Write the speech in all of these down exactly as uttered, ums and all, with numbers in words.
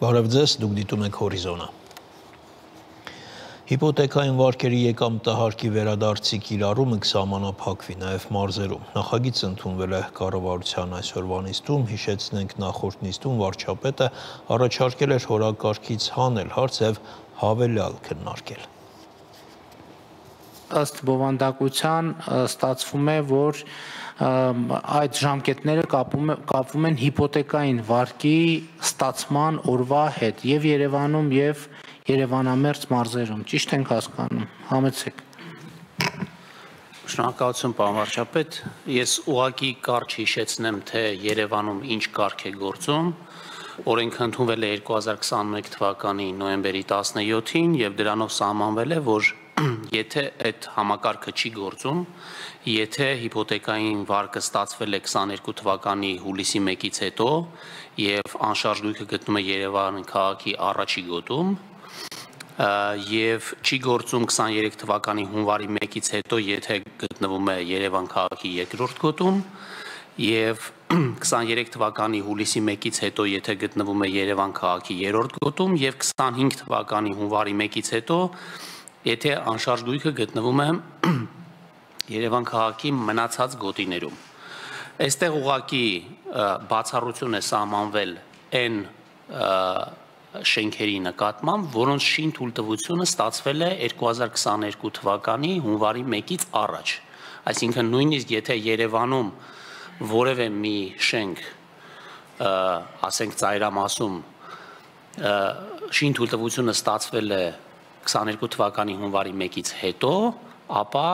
Բարև ձեզ, դուք դիտում եք Հորիզոնը։ Հիպոթեկային վարկերի եկամտահարկի վերադարձի կիրառումը կսահմանափակվի նաև մարզերում։ Նախագիծը ընդունվել է կառավարության այսօրվա նիստում, հիշեցնենք նախորդ նիստում վարչապետը առաջարկել էր հորակարգից հանել հարց եւ հավելյալ քննարկել։ Ըստ բովանդակության ստացվում է, որ այդ ժամկետները կապվում են հիպոթեկային վարկի ստացման օրվա հետ եւ Երևանում եւ Երևանամերձ մարզերում, ճիշտ ենք հասկանում, համեցեք։ Շնորհակալություն, պարոն վարչապետ, ես ուղղակի կարճ հիշեցնեմ, թե Երևանում ինչ կարգ է գործում, օրենքը ընդունվել է երկու հազար քսաներկու թվականի նոյեմբերի տասնյոթին եւ դրանով սահմանվել է, որ եթե այդ համակարգը չի գործում, եթե հիպոթեկային վարկը ստացվել է քսաներկու թվականի հուլիսի մեկից հետո եւ անշարժ գույքը գտնում է Երևան քաղաքի առաջի գոտում եւ չի գործում քսաներկու թվականի հունվարի մեկից հետո, եթե գտնվում է Երևան քաղաքի երկրորդ գոտում եւ քսաներկու թվականի հուլիսի մեկից հետո, եթե գտնվում է Երևան քաղաքի երրորդ գոտում եւ քսանհինգ թվականի հունվարի մեկից հետո, եթե անշարժ գույքը գտնվում է Երևան քաղաքի մնացած գոտիներում։ Այստեղ ուղղակի բացառություն է սահմանվել այն շենքերի նկատմամբ, որոնց շինթույլտվությունը ստացվել է երկու հազար քսաներկու թվականի հունվարի մեկից առաջ։ Այսինքն նույնիսկ եթե Երևանում որևէ մի շենք, ասենք ծայրամասում, շինթույլտվությունը ստացվել է քսաներկու թվականի հունվարի մեկից հետո, ապա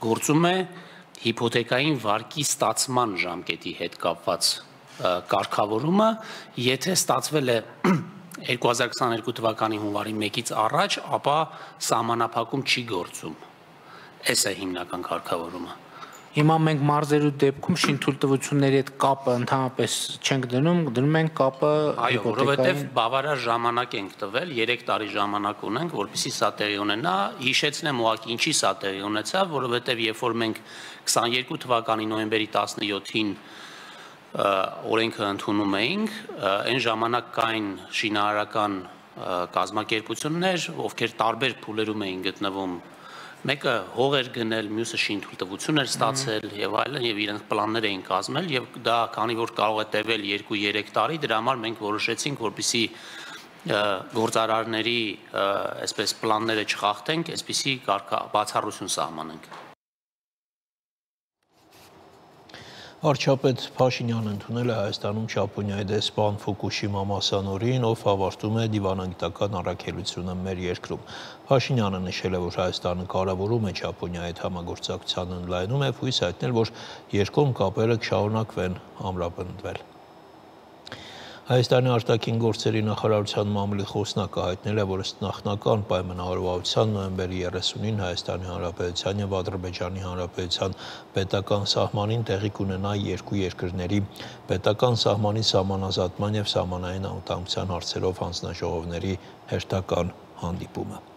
գործում է հիպոթեկային վարկի ստացման ժամկետի հետ կապված կարգավորումը, եթե ստացվել է երկու հազար քսաներկու թվականի հունվարի մեկից առաջ, ապա սահմանափակում չի գործում։ Այս է հիմնական կարգավորումը։ Հիմա մենք մարզերու դեպքում շինթույլտվությունների հետ կապը ընդհանրապես չենք դնում, դնում ենք կապը Այո, որովհետև բավարար ժամանակ ենք տվել, երեք տարի ժամանակ ունենք, որպեսզի սա տեղի ունենա, հիշեցնեմ ուղղակի ինչի սա տեղի ունեցավ, որովհետև երբ որ մենք քսաներկու թվականի նոյեմբերի տասնյոթին օրենքը ընդունում էինք, այն ժամանակ կային շինարարական կազմակերպություններ, ովքեր տարբեր փուլերում էին գտնվում, մեկը հող էր գնել, մյուսը շինթույլտվություն էր ստացել եւ այլն, եւ իրենք պլաններ էին կազմել եւ դա քանի որ կարող է տևել երկու-երեք տարի, դրա համար մենք որոշեցինք, որպեսզի գործարարների այսպես պլանները չխախտենք, այսպեսի բացառություն սահմանենք։ Վարչապետ Փաշինյանը ընդունել է Հայաստանում Ճապոնիայի դեսպան Ֆուկուշիմա Մասանորին, ով ավարտում է դիվանագիտական առաքելությունը մեր երկրում։ Փաշինյանը նշել է, որ Հայաստանը կարևորում է Ճապոնիայի հետ համագործակցության ընդլայնում եւ հույս հայտնել, որ երկկողմ կապերը կշարունակվեն ամրապնդվել։ Հայաստանի արտաքին գործերի նախարարության մամուլի խոսնակը հայտնել է, որ ըստ նախնական պայմանավորվածության նոյեմբերի երեսունին Հայաստանի Հանրապետության եւ Ադրբեջանի Հանրապետության պետական սահմանին տեղի կունենա երկու երկրների պետական սահմանի սահմանազատման եւ սահմանային անվտանգության հարցերով հանձնաժողովների հերթական հանդիպումը։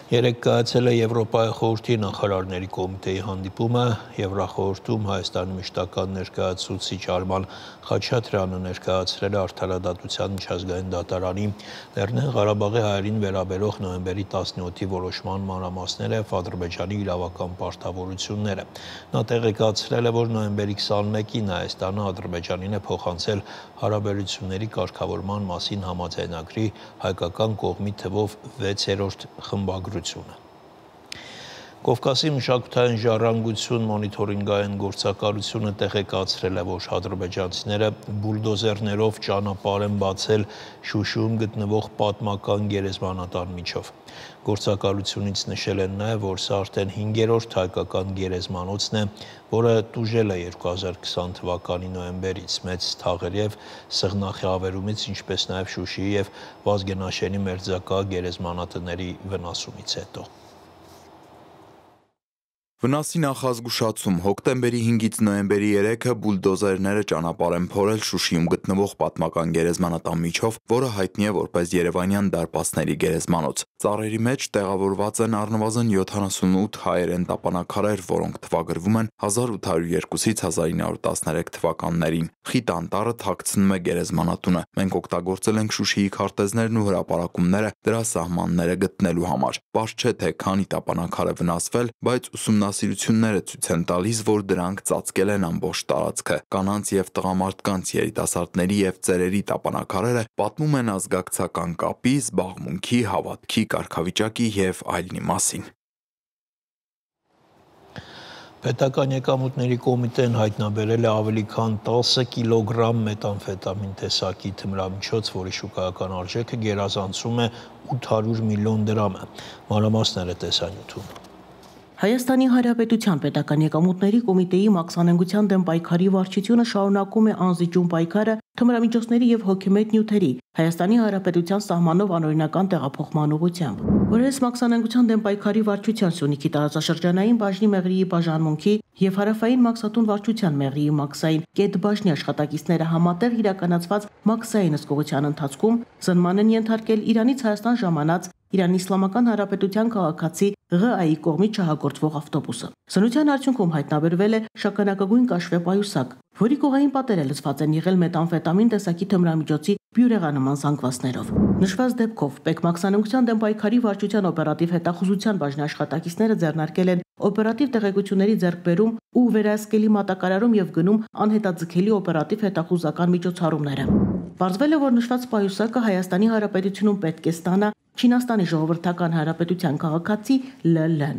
Երեկ կայացել է Եվրոպայի խորհրդի նախարարների կոմիտեի հանդիպումը, Եվրախորհրդում Հայաստանի մշտական ներկայացուցիչ Արման Խաչատրյանը ներկայացրել է Արդարադատության միջազգային դատարանի Լեռնային Ղարաբաղի հայերին վերաբերող նոյեմբերի տասնյոթի որոշման մանրամասները եւ Ադրբեջանի իրավական պարտավորությունները։ Նա տեղեկացրել է, որ նոյեմբերի քսանմեկին Հայաստանը Ադրբեջանին է փոխանցել հարաբերությունների կարգավորման մասին համաձայնագրի հայկական կողմի թվով վեցերորդ խմբագրությունը։ Կովկասի մշակութային ժառանգություն մոնիթորինգային գործակալությունը տեղեկացրել է, որ ադրբեջանցիները բուլդոզերներով ճանապարհ են բացել Շուշիում գտնվող պատմական գերեզմանատան միջով։ Գործակալությունից նշել են նաև, որ սա արդեն հինգերորդ հայկական գերեզմանոցն է, որը տուժել է երկու հազար քսան թվականի նոյեմբերից մեծ թաղերի եւ սեղնախի ավերումից, ինչպես նաև Շուշիի եւ Վազգենաշենի մերձակա գերեզմանատների վնասումից հետո։ Վնասի նախազգուշացում հոկտեմբերի հինգից նոյեմբերի երեքը բուլդոզերները ճանապարհ են փորել Շուշիում գտնվող պատմական գերեզմանատան միջով, որը հայտնի է որպես Երևանյան դարպասների գերեզմանոց։ Ծառերի մեջ տեղավորված են առնվազն յոթանասունութ հայերեն տապանաքարեր, որոնք թվագրվում են հազար ութ հարյուր երկուսից հազար ինը հարյուր տասներեք թվականներին։ Խիտ անտառը թաքցնում է գերեզմանատունը։ Մենք օգտագործել ենք Շուշիի քարտեզներն ու հրապարակումները դրա սահմանները գտնելու համար։ Պարզ չէ, թե քանի տապանաքար է վնասվել, բայց ուսումնասիրությունները ցույց են տալիս, որ դրանք ծածկել են ամբողջ տարածքը։ Կանանց եւ տղամարդկանց, երիտասարդների եւ ծերերի տապանաքարերը պատմում են ազգակցական կապի, զբաղմունքի, հավատքի, կարգավիճակի եւ այլնի մասին։ Պետական եկամուտների կոմիտեն հայտնաբերել է ավելի քան տասը կիլոգրամ մետամֆետամին տեսակի թմրամիջոց, որի շուկայական արժեքը գերազանցում է ութ հարյուր միլիոն դրամ է։ Մանրամասները տեսանյութում։ Հայաստանի Հանրապետության Պետական եկամուտների կոմիտեի մաքսանենգության դեմ պայքարի վարչությունը շարունակում է անզիջում պայքարը թմրամիջոցների եւ հոգեմետ նյութերի Հայաստանի Հանրապետության սահմանով անօրինական տեղափոխման ուղղությամբ։ Որպես մաքսանենգության դեմ պայքարի վարչության Սյունիքի տարածաշրջանային բաժնի մեղրիի բաժանմունքի եւ հարավային մաքսատուն վարչության մեղրիի մաքսային կետ բաժնի աշխատակիցները համատեղ իրականացված մաքսային ըսկողության ընթացքում զնման են ենթարկել Իրանից Հայաստան ժամանած Իրանի Իսլամական Հանրապետության քաղաքացի ՂԱԻ կողմից շահագործվող ավտոբուսը։ Սնության արդյունքում հայտնաբերվել է շագանակագույն կաշվե պայուսակ, որի կողային պատերը լցված են եղել մետամֆետամին տեսակի թմրամիջոցի բյուրեղանման զանգվածներով։ Նշված դեպքով Պետմաքսանենգության դեմ պայքարի վարչության օպերատիվ հետախուզության բաժնի աշխատակիցները ձեռնարկել են օպերատիվ տեղեկությունների ձեռքբերում ու վերահսկելի մատակարարում եւ գնում անհետաձգելի օպերատիվ հետախուզական միջոցառումները։ Պարզվել է, որ նշված պայուսակը Հայաստանի Հանրապետությունում պետք է ստանա Չինաստանի Ժողովրդական Հանրապետության քաղաքացի ԼԼ-ն։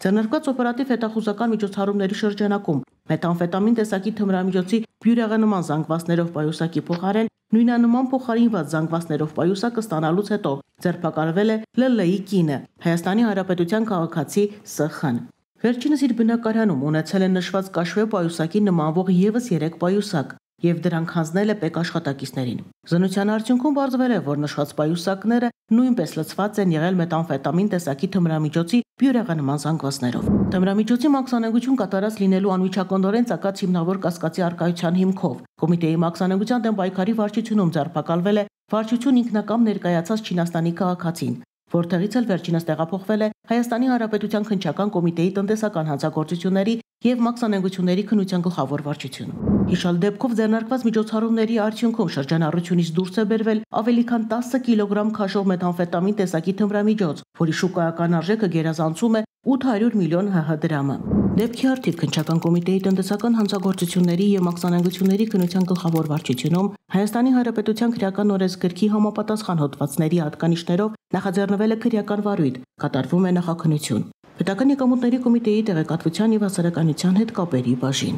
Ձեռնարկված օպերատիվ հետախուզական միջոցառումների շրջանակում մետամֆետամին տեսակի թմրամիջոցի բյուրեղանման զանգվածներով պայուսակի փոխարեն նույնանման փոխարինված զանգվածներով պայուսակը ստանալուց հետո ձերբակալվել է ԼԼ-ի կինը, Հայաստանի Հանրապետության քաղաքացի ՍԽ-ն։ Վերջինս իր բնակարանում ունեցել է նշված կաշվե պայուսակի նմանվող եւս երեք պայուսակ եւ դրանք հանձնել է ՊԵԿ աշխատակիցներին։ Զնության արդյունքում պարզվել է, որ նշված պայուսակները նույնպես լցված են եղել մետամֆետամին տեսակի թմրամիջոցի բյուրեղանման զանգվածներով։ Թմրամիջոցի մաքսանենգություն կատարած լինելու անմիջականորեն ցակած հիմնավոր կասկածի արկայության հիմքով կոմիտեի մաքսանենգության դեմ պայքարի վարչությունում ձերբակալվել է վարչություն ինքնակամ ներկայացած Չինաստանի քաղաքացին, որտեղից էլ վերջինս տեղափոխվել է Հայաստանի Հանրապետության քննչական կոմիտեի տնտեսական հանձնագործությունների եւ մաքսանենգությունների քննության գլխավոր վարչություն։ Հիշալ դեպքով ձեռնարկված միջոցառումների արդյունքում շրջանառությունից դուրս է բերվել ավելի քան տասը կիլոգրամ քաշով մետամֆետամին տեսակի թմրամիջոց, որի շուկայական արժեքը գերազանցում է ութ հարյուր միլիոն ՀՀ դրամը։ Դեպքի արդիվ քննչական կոմիտեի տնտեսական հանձնագործությունների եւ մաքսանենգությունների քննության գլխավոր վարչությունում Հայաստանի Հանրապետության քրեական օրենսգրքի համապատասխան հոդվածների հատկանիշներով նախաձեռնվել է քրեական վարույթ, կատարվում է նախաքննություն։ Պետական եկամուտների կոմիտեի տեղեկատվության եւ հասարակայնության հետ կապերի բաժին։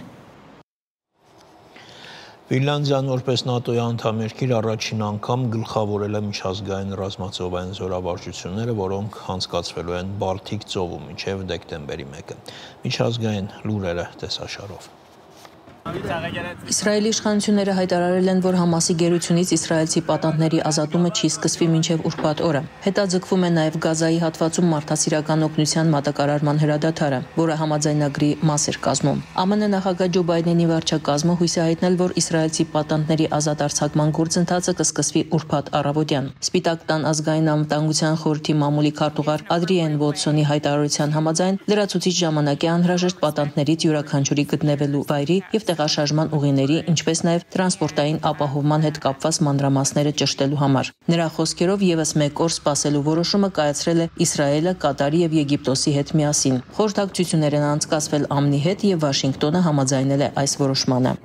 Ֆինլանդիան որպես ՆԱՏՕ-ի անդամ երկիր առաջին անգամ գլխավորել է միջազգային ռազմածովային զորավարժությունները, որոնք անցկացվելու են Բալթիկ ծովում մինչև դեկտեմբերի մեկը։ Միջազգային լուրերը տեսաշարով։ Իսրայելի իշխանությունները հայտարարել են, որ Համասի գերությունից իսրայելցի պատանդների ազատումը չի սկսվի մինչև ուրբաթ օրը։ Հետաձգվում է նաև Գազայի հատվածում մարդասիրական օգնության մատակարարման հրադադարը, որը համաձայնագրի մաս էր կազմում։ ԱՄՆ նախագահ Ջո Բայդենի վարչակազմը հույս է հայտնել, որ իսրայելցի պատանդների ազատ արձակման գործընթացը կսկսվի ուրբաթ առավոտյան։ Սպիտակ տան ազգային անվտանգության խորհրդի մամուլի քարտուղար Ադրիեն Վոտսոնի հայտարարության համաձայն լրացուցիչ ժամանակ է անհրաժեշտ պատանդներից յուրաքանչյուրի գտնվելու վայրի եւ տեղաշարժման ուղիների, ինչպես նաև տրանսպորտային ապահովման հետ կապված մանրամասները ճշտելու համար։ Նրա խոսքերով եւս մեկ օր սպասելու որոշումը կայացրել է Իսրայելը, Կատարի եւ Եգիպտոսի հետ միասին։ Խորհրդակցություններ են անցկացվել ԱՄՆ-ի հետ եւ Վաշինգտոնը համաձայնել է այս որոշմանը։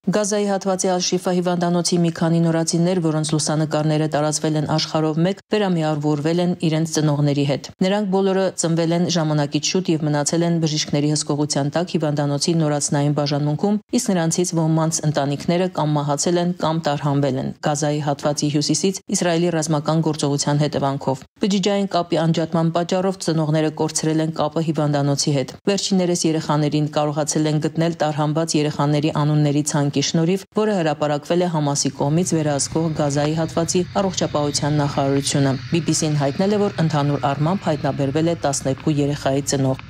Գազայի հատվածի Ալ-Շիֆա հիվանդանոցի մի քանի նորածիններ, որոնց լուսանկարները տարածվել են աշխարհով մեկ, վերամիավորվել են իրենց ծնողների հետ։ Նրանք բոլորը ծնվել են ժամանակից շուտ եւ մնացել են բժիշկների հսկողության տակ հիվանդանոցի նորածնային բաժանմունքում, իսկ նրանցից ոմանց ընտանիքները կամ մահացել են կամ տարհանվել են Գազայի հատվածի հյուսիսից Իսրայելի ռազմական գործողության հետևանքով։ Բջջային կապի անջատման պատճառով ծնողները կորցրել են կապը հիվանդանոցի հետ։ Վերջիններս երեխաներին կարողացել են գտնել տարհանված երեխաների անունների ցանկ շնորհիվ, որը հրապարակվել է Համասի կողմից վերահսկող Գազայի հատվածի առողջապահության նախարարությունը։ բի բի սին հայտնել է, որ ընդհանուր առմամբ հայտնաբերվել է տասներկու երեխայի ծնող։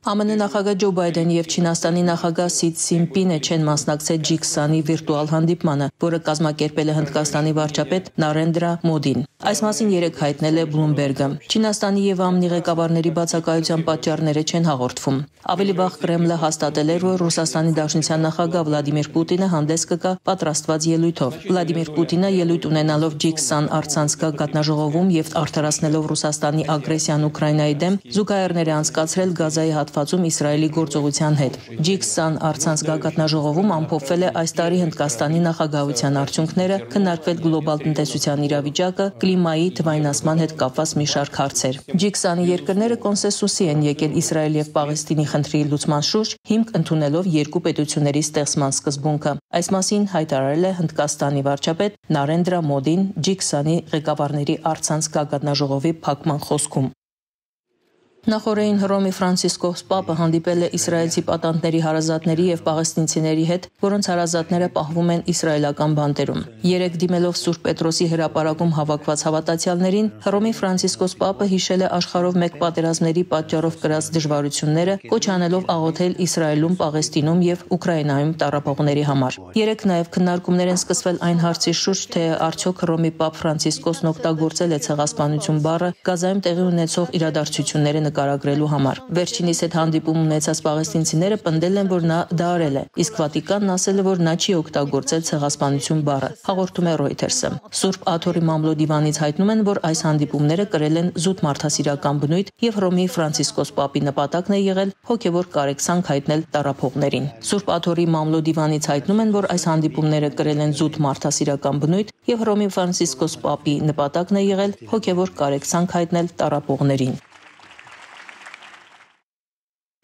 Ա Մ Ն նախագահ Ջո Բայդեն եւ Չինաստանի նախագահ Սի Ցզինպինը չեն մասնակցել Ջի քսանի վիրտուալ հանդիպմանը, որը կազմակերպել է Հնդկաստանի վարչապետ Նարենդրա Մոդին։ Այս մասին երեկ հայտնել է Բլումբերգը։ Չինաստանի եւ Ա Մ Ն-ի ղեկավարների բացակայության պատճառները չեն հաղորդվում։ Ավելի վաղ Կրեմլը հաստատել էր, որ Ռուսաստանի Դաշնության նախագահ Վլադիմիր Պուտինը հանդես կգա պատրաստված ելույթով։ Վլադիմիր Պուտինը ելույթ ունենալով Ջի քսան առցանց գագաթնաժողովում եւ արդարացնելով Ռուսաստանի ագրեսիան Ուկրաինայի դեմ զուգահեռներ է անցկացրել Գազայի հատվածում Իսրայելի գործողության հետ։ Ջի քսան առցանց գագաթնաժողովում ամփոփվել է այս տարի Հնդկաստանի նախագահության արդյունքները, քննարկվել գլոբալ տնտեսության իրավիճակը, կլիմայի, թվայնացման հետ կապված մի շարք հարցեր։ Ջի քսանի երկրները կոնսենսուսի են եկել Իսրայել եւ Պաղեստինի խնդրի լուծման շուրջ, հիմք ընդունելով երկու պետությունների ստեղծման սկզբունքը։ Այս մասին հայտարարել է Հնդկաստանի վարչապետ Նարենդրա Մոդին Ջի քսանի ղեկավարների առցանց գագաթնաժողովի փակման խոսքում։ Նախորդին Հռոմի Ֆրանցիսկոս Պապը հանդիպել է իսրայելցի պատանդների հարազատների եւ պաղեստինցիների հետ, որոնց հարազատները պահվում են իսրայելական բանտերում։ Երեք դիմելով Սուրբ Պետրոսի հրապարակում հավաքված հավատացյալներին, Հռոմի Ֆրանցիսկոս Պապը հիշել է աշխարհով մեկ պատերազմների պատճառով կրած դժվարությունները, կոչ անելով աղոթել Իսրայելում, Պաղեստինում եւ Ուկրաինայում տառապողների համար։ Երեք նաեւ քննարկումներ են սկսվել այն հարցի շուրջ, թե արդյոք Հռոմի Պապ Ֆրանցիսկոսն օգտագործել է ցեղասպանություն բառը Գազայում տեղի ունեցող իրադարձությունները նկարագրելու համար։ Վերջինիս հետ հանդիպում ունեցած պաղեստինցիները պնդել են, որ նա դա արել է, իսկ Վատիկանն ասել է, որ նա չի օգտագործել ցեղասպանություն բառը, հաղորդում է Reuters-ը։ Սուրբ Աթոռի մամլո դիվանից հայտնում են, որ այս հանդիպումները կրել են զուտ մարդասիրական բնույթ եւ Հռոմի Ֆրանցիսկոս Պապի նպատակն է եղել հոգեվոր կարեկցանք հայտնել տառապողներին։ Սուրբ Աթոռի մամլո դիվանից հայտնում են, որ այս հանդիպումները կրել են զուտ մարդասիրական բնույթ եւ Հռոմի Ֆրանցիսկոս Պապի նպատակն է եղել հոգեվոր կարեկցանք հայտնել տառապողներին։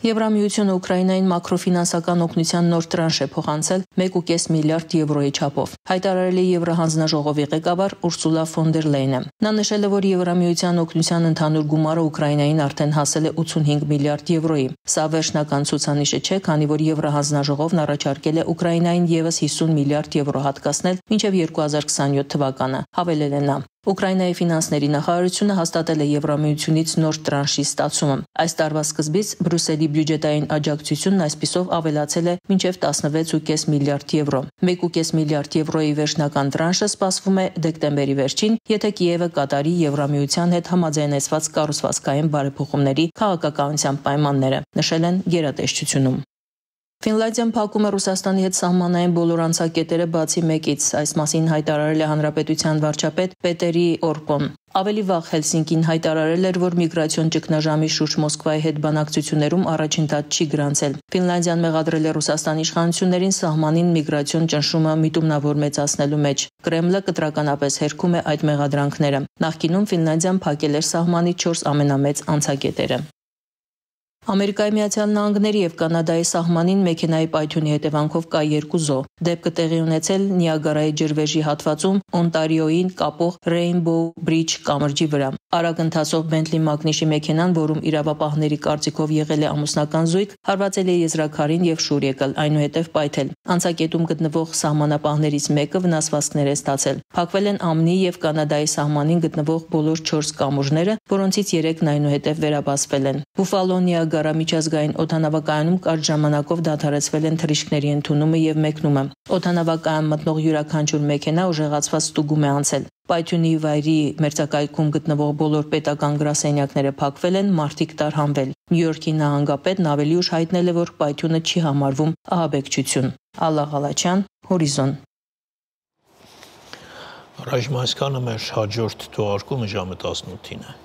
Եվրամիությունը Ուկրաինային մակրոֆինանսական օգնության նոր տրանշ է փոխանցել մեկ կόμμα պենս միլիարդ եվրոյի չափով։ Հայտարարել է Եվրահանձնաժողովի ղեկավար Ուրսուլա ֆոն դեր Լեյնը։ Նա նշել է, որ Եվրամիության օգնության ընդհանուր գումարը Ուկրաինային արդեն հասել է ութսունհինգ միլիարդ եվրոյի։ Սա վերջնական ցուցանիշը չէ, քանի որ Եվրահանձնաժողովն առաջարկել է Ուկրաինային եւս հիսուն միլիարդ եվրո հատկացնել մինչև երկու հազար քսանյոթ թվականը, հավելել է նա։ Ուկրաինայի ֆինանսների նախարարությունը հաստատել է Եվրամիությունից նոր տրանշի ստացումը։ Այս տարվա սկզբից Բրյուսելի բյուջետային աջակցությունն այսպիսով ավելացել է մինչև տասնվեց կόμμα պենս միլիարդ եվրո։ մեկ կόμma պենս միլիարդ եվրոյի վերջնական տրանշը սպասվում է դեկտեմբերի վերջին, եթե Կիևը կատարի Եվրամիության հետ համաձայնեցված կառուցվածքային բարեփոխումների քաղաքականության պայմանները, նշել են գերատեսչությունում։ Ֆինլանդիան փակում է Ռուսաստանի հետ սահմանային բոլոր անցակետերը բացի մեկից, այս մասին հայտարարել է հանրապետության վարչապետ Պետերի Օրպոն։ Ավելի վաղ Հելսինկին հայտարարել էր, որ միգրացիոն ճգնաժամի շուրջ Մոսկվայի հետ բանակցություններում առաջընթաց չի գրանցել։ Ֆինլանդիան մեղադրել է Ռուսաստանի իշխանություններին սահմանին միգրացիոն ճնշումը միտումնավոր մեծացնելու մեջ։ Կրեմլը կտրականապես հերքում է այդ մեղադրանքները։ Նախկինում Ֆինլանդիան փակել էր սահմանի չորս ամենամեծ անցակետերը։ Ամերիկայի Միացյալ Նահանգների եւ Կանադայի սահմանին մեքենայի պայթյունի հետևանքով կա երկու զոհ։ Դեպքը տեղի ունեցել Նիագարայի ջրվեժի հատվածում Օնտարիոյին կապող Rainbow Bridge կամրջի վրա։ Արագ ընթացող Bentley Magnish-ի մեքենան, որում իրավապահների կարծիքով եղել է ամուսնական զույգ, հարվածել է եզրաքարին եւ շուռ եկել, այնուհետեւ պայթել։ Անցակետում գտնվող սահմանապահներից մեկը վնասվածքներ է ստացել։ Փակվել են Ա Մ Ն-ի եւ Կանադայի սահմանին գտնվող բոլոր չորս կամուրջները, որոնցից երեքն այնուհետեւ վերաբացվել են։ Բուֆալո Նիագարա միջազգային օդանավակայանում կարճ ժամանակով դադարեցվել են թռիչքների ընդունումը եւ մեկնումը։ Օդանավակայան մտնող յուրաքանչյուր մեքենա ուժեղացված ստուգում է անցել։ Պայթյունի վայրի մերձակայքում գտնվող բոլոր պետական գրասենյակները փակվել են, մարդիկ տարհանվել։ Նյու Յորքի նահանգապետն ավելի ուշ հայտնել է, որ պայթյունը չի համարվում ահաբեկչություն։ Ալլա Ղալաչյան, Հորիզոն։ Ռաժմասկանը մեր հաջորդ թողարկումը ժամը տասնութին է։